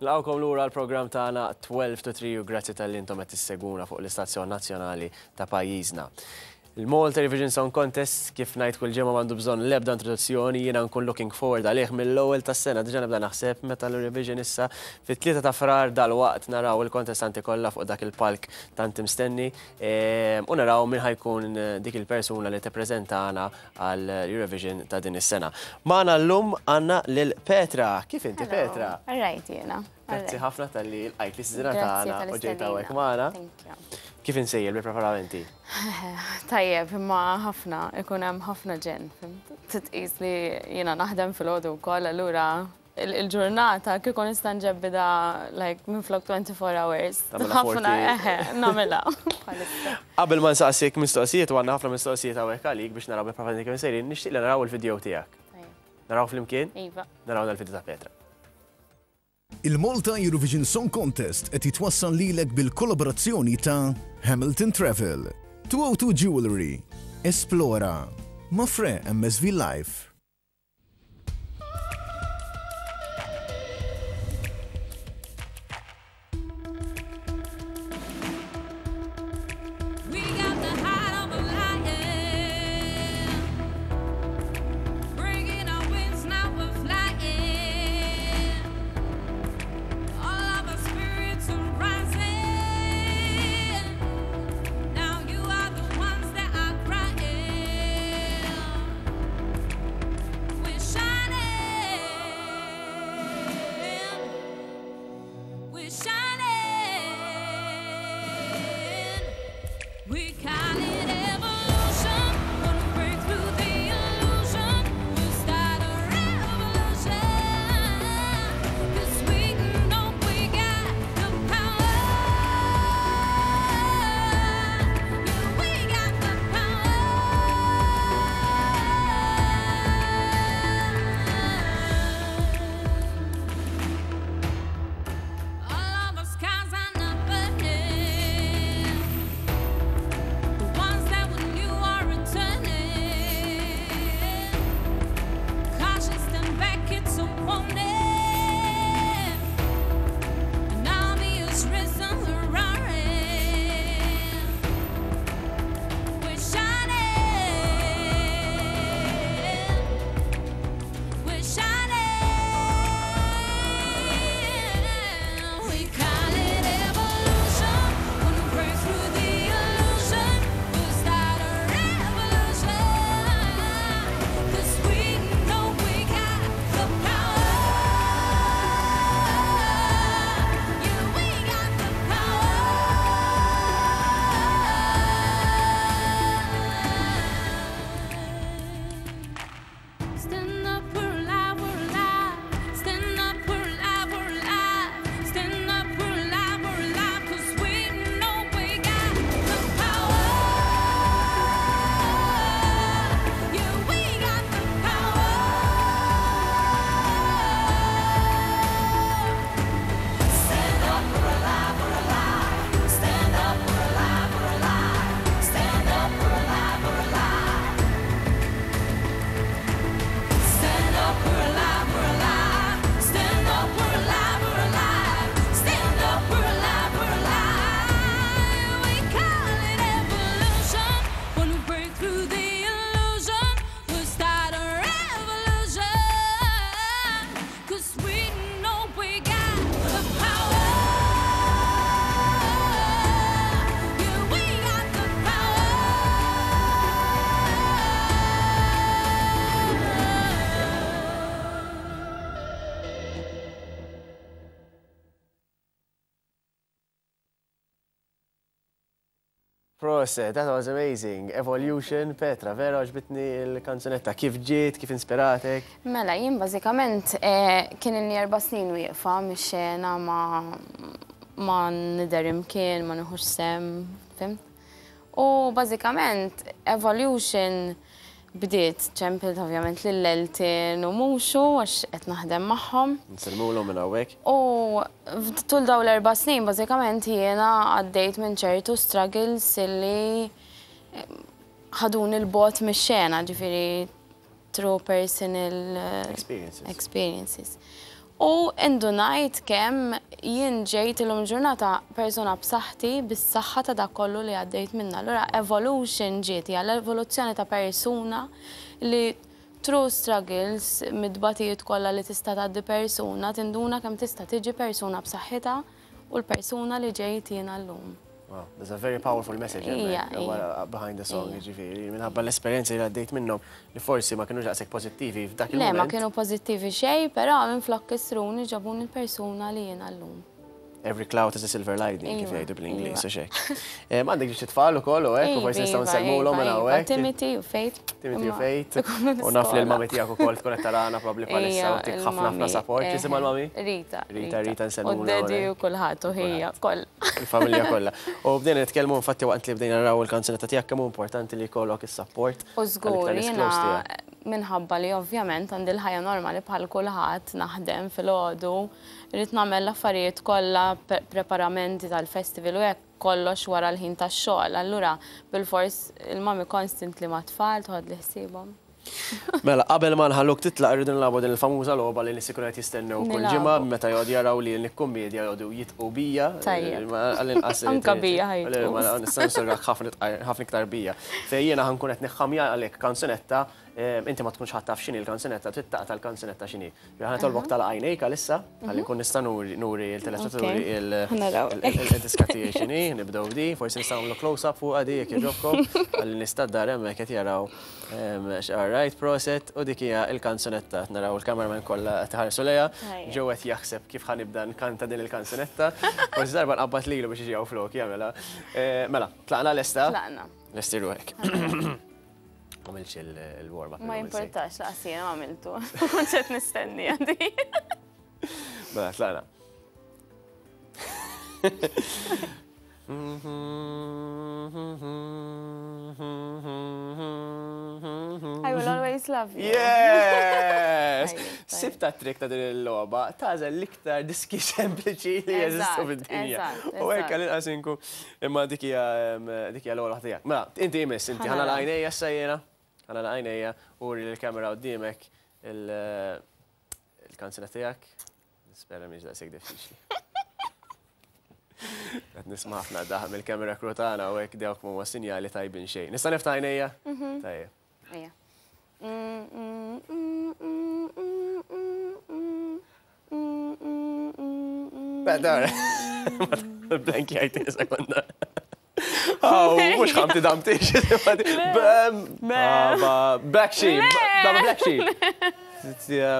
Nilqgħukom lura għall-programm tagħna 12 to 3 u grazzi talli intom qed tissegwuna fuq l-istazzjon nazzjonali ta' pajjiżna. Il-Malta Eurovision Song Contest kif ngħid kull ġimgħa m'għandu bżonn l-ebda introduzzjoni, jiena nkun looking forward għalih mill-ewwel tas-sena diġà nibda naħseb meta l-Eurovision issa fit-3 ta' Frar dalwaqt naraw il-kontestanti kollha fuq dak il-palk tant imstenni ehm, u naraw min ħajkun dik il-persuna li tippreżentana għal Eurovision ta' din is-sena. Magħna llum għandna lil Petra. Kif inti Petra? Rajt jiena. Grazzi ħafna talli lqajt l-istedina tagħna u ġejt hawnhekk magħna. Kif insejjer bil-preparamenti? Tajjeb, imma ħafna, ikun hemm ħafna ġenn. Titqis li jiena naħdem filgħodu wkoll, allura il-ġurnata kieku nista' nġebbida like minflok 24 hours. Ħafna eħe, nagħmilha. Qabel ma nsaqsik mistoqsijiet u għandna ħafna mistoqsijiet hawnhekk għalik biex naraw bil-preparamenti kif sejrin, nixtieq li naraw il-video tiegħek. Naraw flimkien? Iva. Naraw dal-video ta' Petra. Il-Malta Eurovision Song Contest qed jitwassal lilek bil-kollaborazzjoni ta' Hamilton Travel, 202 Jewellery, Esplora, Mafre MSV Life. Proset, that was amazing. Evolution, Petra, vera għoġbitni l-kanzunetta. Kif ġiet, kif inspiratek? Mela, jien bażikament kien ilni erba' snin wieqfa mix-xena ma ma nidher imkien, ma nieħux sehem, fhimt? U bażikament Evolution bdiet, ċempilt ovvjament lil Elton u Muxu għax qed naħdem magħhom. Nsellmulhom minn hawnhekk. U tul dawn l-erba' snin bażikament jiena għaddejt minn ċertu struggles illi ħaduni 'l bogħod mix-xena, ġifieri through personal experiences. experiences. U indunajt kemm jien ġejt illum il-ġurnata persuna b'saħħti bis-saħħa ta' dak kollu li għaddejt minnha. Allura evolution ġiet hija l-evoluzzjoni ta' persuna li through struggles, mit-tbatijiet kollha li tista' tgħaddi persuna, tinduna kemm tista' tiġi persuna b'saħħitha u l-persuna li ġejt jiena llum. Wow, there's a very powerful message hemmhekk behind the song, jiġifieri, minħabba l-esperjenzi li għaddejt minnhom li forsi ma kinux daqshekk pożittivi f'dak il-mument. Le, ma kienu pożittivi xejn, però minflok kissruni ġabuni l-persuna li jiena llum. Every cloud has a silver lining, kif jgħidu bl-Ingliż, u xek. Għandek xi tfal ukoll u hekk, u forsi nistgħu nsellmulhom minn hawnhekk. Timothy u Faith. Timothy u Faith. U naf li l-mami tiegħek ukoll tkun qed tarana probabbli bħalissa u tik ħafna ħafna support. X'isimha l-mami? Rita. Rita, Rita nsellmulha. U d-daddy u kulħadd u ħija kollha. Il-familja kollha. U bdejna nitkellmu infatti waqt li bdejna naraw il-kanzunetta tiegħek kemm hu importanti li jkollok is-support. U żgur jiena minħabba li ovvjament għandi l-ħajja normali bħal kulħadd naħdem filgħodu, irrid nagħmel l-affarijiet kollha, preparamenti tal-festival u hekk kollox wara l-ħin tax-xogħol. Allura bilfors il-mami constantly mat-tfal toħodli ħsiebhom. Mela, qabel ma nħalluk titlaq irridu nilagħbu din il-famuża logħba li n-nies ikunu qed jistennew kull ġimgħa meta joqgħodu jaraw li nikkummedja joqogħdu jitqu bija. Tajjeb. Għall-inqas. Anka bija ħajtqu. Nista' nsurrak ħafna iktar bija. Fejn jiena ħa nkun qed niħħamja għalik kanzunetta, inti ma tkunx ħadd taf x'inhi l-kanzunetta, trid taqta' l-kanzunetta x'inhi. Ħa nitolbok tagħlaq għajnejk għalissa, ħalli nkun nista' nuri l-telespettaturi il-diska tiegħi x'inhi, nibdew b'di, forsi nistgħu nagħmlu close-up fuqha di jekk jogħġobkom, ħalli nies tad-dar hemmhekk qed jaraw. All right, proset, u dik hija l-kanzunetta. Qed naraw il-cameraman kollha qed iħarsu lejha. Joe qed jaħseb kif ħa nibda nkanta din il-kanzunetta. Forsi darba nqabbad lilu biex jiġi hawn flok jagħmilha. Mela, tlaqna lesta? Tlaqna. Lesti ruħek. Għamilx il-warm-up. Ma jimportax, laqas jiena ma għamiltu. Kont qed nistenni għandi. Mela, tlaqna. I will always love you. Yes! Sibta trik ta' din il-logħba, tażel l-iktar diski sempliċi li jeżistu fid-dinja. U hekk għal-inqas inkun Imma dik hija dik hija l-ewwel waħda tiegħek. Mela, inti jmiss, inti ħa nagħlaq għajnejja issa jiena. Ħa nagħlaq għajnejja u uri lill-kamera qudiemek il-kanzuna tiegħek. Nispera mhix daqshekk diffiċli. Qed nisma' ħafna daħ mill-kamera crew tagħna u hekk dawk m'huma sinjali tajbin xejn. Nista' niftaħ għajnejja? Tajjeb. Ejja. Blank jgħid sekonda. Aw, mhux ħamti damti. Bam, black sheep. Baba black sheep.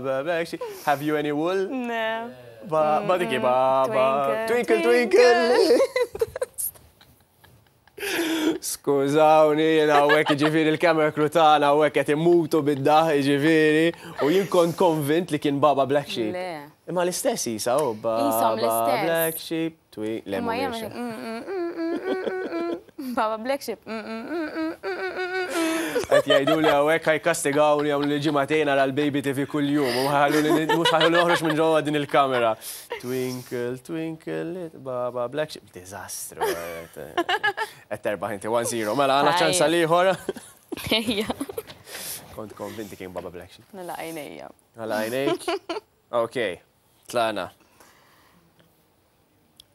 Black sheep. Have you any wool? No. Ba, ba diki, ba, ba. Twinkle, twinkle. Skużawni, jien hawnhekk jiġifieri l-camera crew tagħna hawnhekk qed imutu bid-daħ jiġifieri u jien kont konvint li kien Baba Black Sheep. Le. Imma l-istess isa hu Ishom Baba l-istess. Black Sheep twi le Imma mhumiex. jagħmel mm, mm, mm, mm, mm, mm, mm. Baba Black Sheep. mm, mm, mm, mm, mm, mm, mm, mm. Qed jgħiduli hawnhekk ħa jikkastigawni jagħmluli ġimagħtejn ara l-Baby TV kuljum u ħalluni mhux ħalluni noħroġ minn ġewwa din il-kamera. Twinkle, twinkle, little Baba Black Sheep. Diżastru. Qed terbaħ inti 1-0. Mela għandna ċans għal ieħor. Ejja. Kont konvinti kien Baba Black Sheep. Nagħlaq għajnejja. Nagħlaq għajnejk. Ok, tlaqna.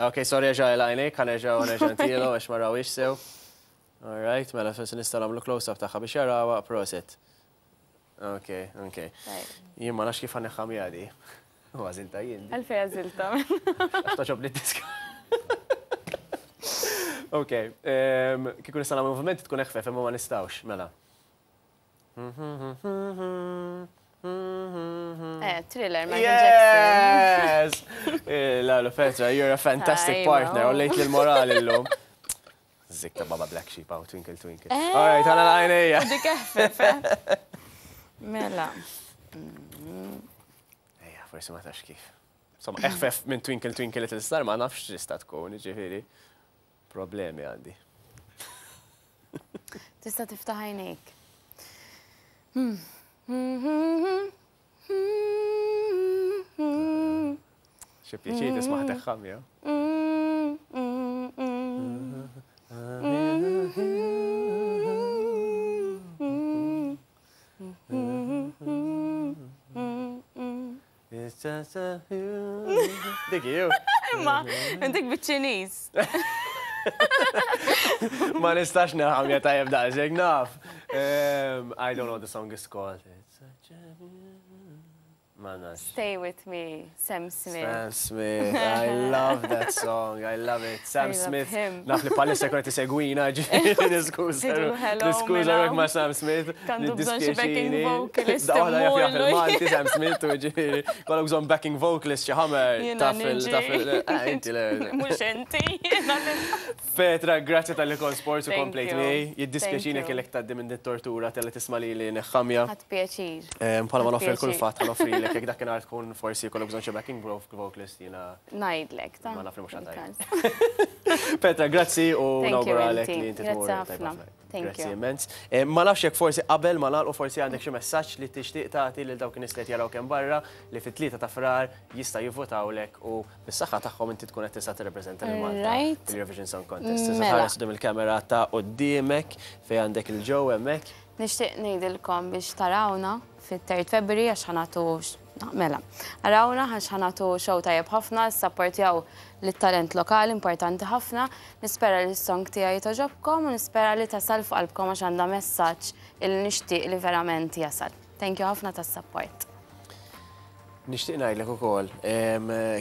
Ok, sorry erġa' għalaq għajnejk, ħa nerġa' nerġa' ntielu għax ma rawhiex sew. All right, mela forsi nistgħu nagħmlu close-up tagħha biex jarawha, prosit. Ok, ok. Jien ma nafx kif ħa neħħamija di. U għażilta jien. Għalfej għażilta. Għax toġobni d-diska. Ok, kieku nista' nagħmel moviment tkun eħfef imma ma nistgħux, mela. Eh, thriller, Michael Jackson. Yes! Eh, Lalu Petra, you're a fantastic partner, u lejt l-morali l-lum. Zik ta' Baba Black Sheep, aw, twinkle twinkle. Eh. All right, għana l-għajnejja. Dik eħfef, eh. Mela. Ejja, forsi ma tax kif. Insomma, eħfef minn Twinkle Twinkle Little Star ma nafx x'tista' tkun, ġifieri. Problemi għandi. Tista' tiftaħ għajnejk. Xi pjaċir tisma' teħħam, jew? Dik ju. Imma, dik biċ-Ċiniż. Ma nistax naħam ja tajjeb daqshekk naf. I don't know what the song is called. It's such a Ma nafx. Stay with me, Sam Smith. Sam Smith, I love that song, I love it. Sam I love Smith, him. naf li palissa jkun qed isegwina, ġifieri niskuża. Ngħidulu hello Niskuża minn ruħek ma' Sam Smith. Għandu bżonn xi backing niddispjaċini. vocalist Da waħda jaf jaf immurlu. il-Malti Sam Smith u ġifieri kollok bżonn backing vocalist xi ħamer Jiena taf il niġi. taf il eh, inti le. Mhux inti, jiena Petra, grazzi talli kont sport u Thank komplejt you. miegħi. Jiddispjaċini Thank you. kellek tgħaddi minn din tortura talli tisma' lili neħħamja. Ħadt pjaċir. Bħalma Ħadt noffri pjaċir. l-kulfatt ħa noffrilek jekk dakinhar tkun forsi jkollok bżonn xi backing vocalist jiena. Ngħidlek, ta. Ma naf li mhux ħa tgħid. Fil-każ. Petra, grazzi u Thank you, nawguralek inti. li inti Grazzi tmur tajba ħafna. ħafna. Thank Grazzi you. immens. Ma nafx jekk forsi qabel ma nagħlqu forsi għandek xi messaġġ li tixtieq tagħti lil dawk in-nies li qed jaraw kemm barra li fit-3 ta' Frar jista' jivvotawlek u bis-saħħa tagħhom inti tkun qed tista' tirrepreżenta lil Malta Right. fil-Eurovision Song Contest. Tista' Mela. tħares quddiem il-kamera ta' quddiemek fejn għandek il-ġew hemmhekk. Nixtieq ngħidilkom biex tarawna fit-3 February għax ħa nagħtu mela. Arawna għax ħa nagħtu show tajjeb ħafna, sapportjaw lit-talent lokali importanti ħafna. Nispera li s-song tiegħi togħġobkom u nispera li tasal f'qalbkom għax għandha messaġġ il nixtieq li verament jasal. Thank you ħafna tas-support. Nixtieq ngħidlek ukoll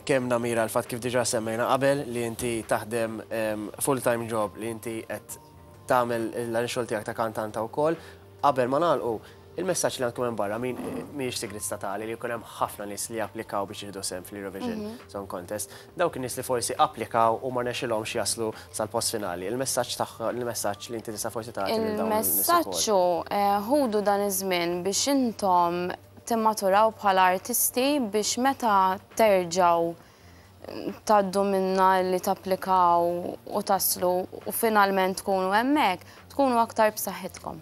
kemm namira l-fatt kif diġà semmejna qabel li inti taħdem full-time job li inti qed tagħmel l-xogħol tiegħek ta' kantanta wkoll. Qabel ma nagħlqu, il-messaġġ li għandkom hemm barra min mhijiex sigrit statali li jkun hemm ħafna nies li applikaw biex jieħdu sehem fl-Eurovision Song Contest. Dawk in-nies li forsi applikaw u ma rnexxilhomx jaslu sal-post finali. Il-messaġġ tagħha, il-messaġġ li inti tista' forsi tagħti lil dawn in-nies ukoll. Il-messaġġ hu ħudu dan iż-żmien biex intom timmaturaw bħala artisti biex meta terġgħu tgħaddu minna li tapplikaw u taslu u finalment tkunu hemmhekk, tkunu aktar b'saħħitkom.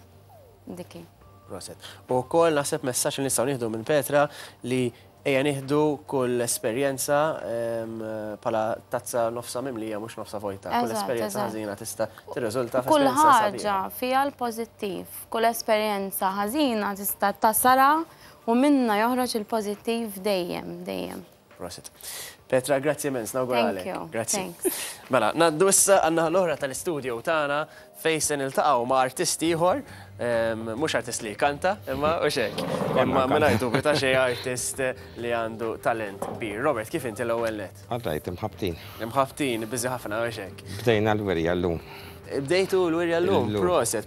Diki. Proset. U wkoll naħseb messaġġ li nistgħu nieħdu minn Petra li ejja nieħdu kull esperjenza bħala tazza nofsa mimlija mhux nofsa vojta. Kull esperjenza ħażina tista' tirriżulta Kull f'esperjenza ħaġa sabiħa. fiha l-pożittiv, kull esperjenza ħażina tista' tasara u minna joħroġ il-pożittiv dejjem, dejjem. Proset. Petra, grazzi immens, nawguralek. Thank you. Grazzi. Thanks. Mela, ngħaddu issa għandna l-oħra tal-istudio tagħna fejn se niltaqgħu ma' artist ieħor, mhux artist li kanta, imma u xek. Imma mingħajr dubju ta' xejn artist li għandu talent kbir. Robert, kif inti l-ewwel net? All right, imħabtin. Imħabtin, busy ħafna u xek. Bdejna l-wirja llum. Bdejtu l-wirja llum, Illum. proset.